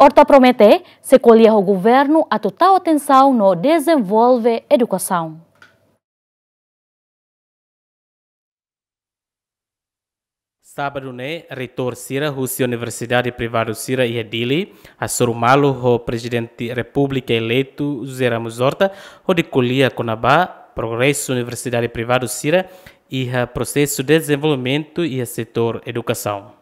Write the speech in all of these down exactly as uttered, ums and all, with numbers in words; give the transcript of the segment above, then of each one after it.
Horta promete sei ko'alia ho governu atu tau atensaun no dezenvolve edukasaun. Sábadu ne'e, reitór sira husi universidade privadu sira iha Dili hasoru malu ho Prezidente Repúblika eleitu José Ramos Horta, hodi ko'alia kona-ba progresu universidade privadu sira iha prosesu dezenvolvimentu iha setór edukasaun.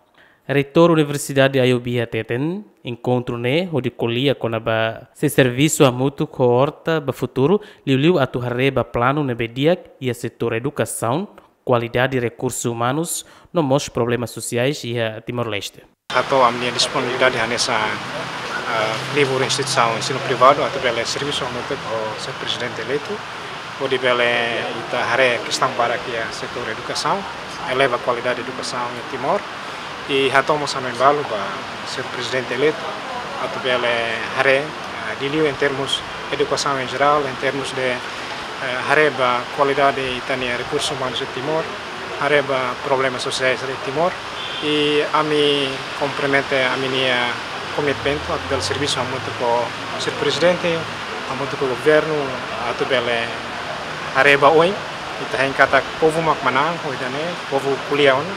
Reitór Universidade Ayub iha hateten, enkontru ne'e hodi ko'alia kona-ba sei servisu hamutuk ho Horta ba futuru, liuliu atu haree ba planu ne'ebé di'ak iha setór edukasaun, kualidade rekursu umanus, no mós problema sosiais iha Timor-Leste. Hato'o ami-nia disponibilidade hanesan, ah, livre instituisaun ensinu privadu atu bele servisu hamutuk ho señór Prezidente eleitu, hodi bele ita haree kestaun barak iha setór edukasaun, eleva kualidade edukasaun iha Timor. I hato'o mós hanoin balu ba señór Prezidente eleitu atu bele haree, ah, liuliu em termos edukasaun em geral, em termos de, eh, haree ba kualidade ita-nia rekursu umanus iha Timor, haree ba problema sosiais iha Timor. I ami kompromete ami-nia komitmentu atu bele servisu hamutuk ho señór Prezidente, hamutuk ho governu, atu bele haree ba oin. Ita hein katak povu mak manán ho ida-ne'e, povu ko'alia ona,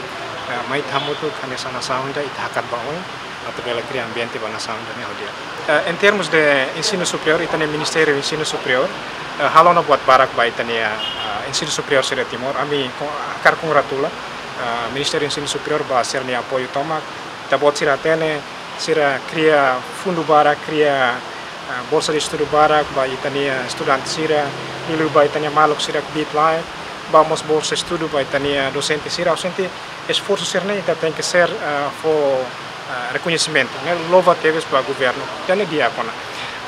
eh, mai ita hamutuk hanesan nasaun ida ita hakat ba oin atu bele kria ambiente ba nasaun ida-ne'e ho di'ak. Eh, em termos de ensinu superiór, ita-nia Ministériu Ensinu Superiór, eh, halo ona buat barak ba ita-nia, eh, ensinu superiór sira Timor. Ami ko-, hakarak kongratula, eh, Ministériu Ensinu Superiór ba sira-nia apoiu tomak. Ita-boot sira hatene, sira kria fundu barak, kria, eh, bolsa de estudu barak ba ita-nia estudante sira, liuliu ba ita-nia maluk sira kbiit-laek, ba mós bolsa estudu ba ita-nia dosente sira. Ha'u sente esforsu sira-ne'e ita tenke ser, eh, fó, eh, rekoñesimentu, ne'e louva tebes ba governu. Ida-ne'e di'ak ona.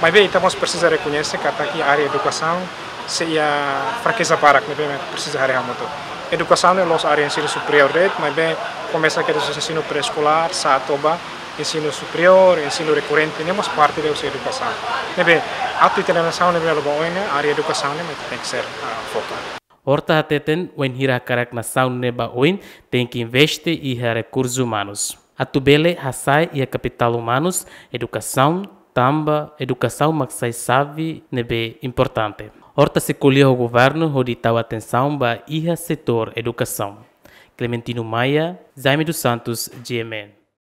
Maibé ita mós presiza rekoñese katak iha área edukasaun sei iha frakeza barak ne'ebé presiza haree hamutuk. Edukasaun ne'e la'ós área ensinu superiór de'it, maibé komesa kedas husi ensinu pré-eskolár, sa'e to'o ba ensinu superiór, ensinu rekorrente, ne'e mós parte de husi edukasaun. Ne'ebé, atu ita-nia nasaun ne'e bele la'o ba oin ne'e, área edukasaun ne'e mak tenke ser, ah, foka. Horta hateten, wainhira hakarak nasaun ne'e ba oin, tenke investe iha rekursu umanus. Atu bele hasa'e iha kapitál umanus, edukasaun, tanba edukasaun mak sai xave ne'ebé importante. Horta sei ko'alia ho governu hodi tau atensaun ba iha setór edukasaun. Clementino Maia, Jaime dos Santos, G M N.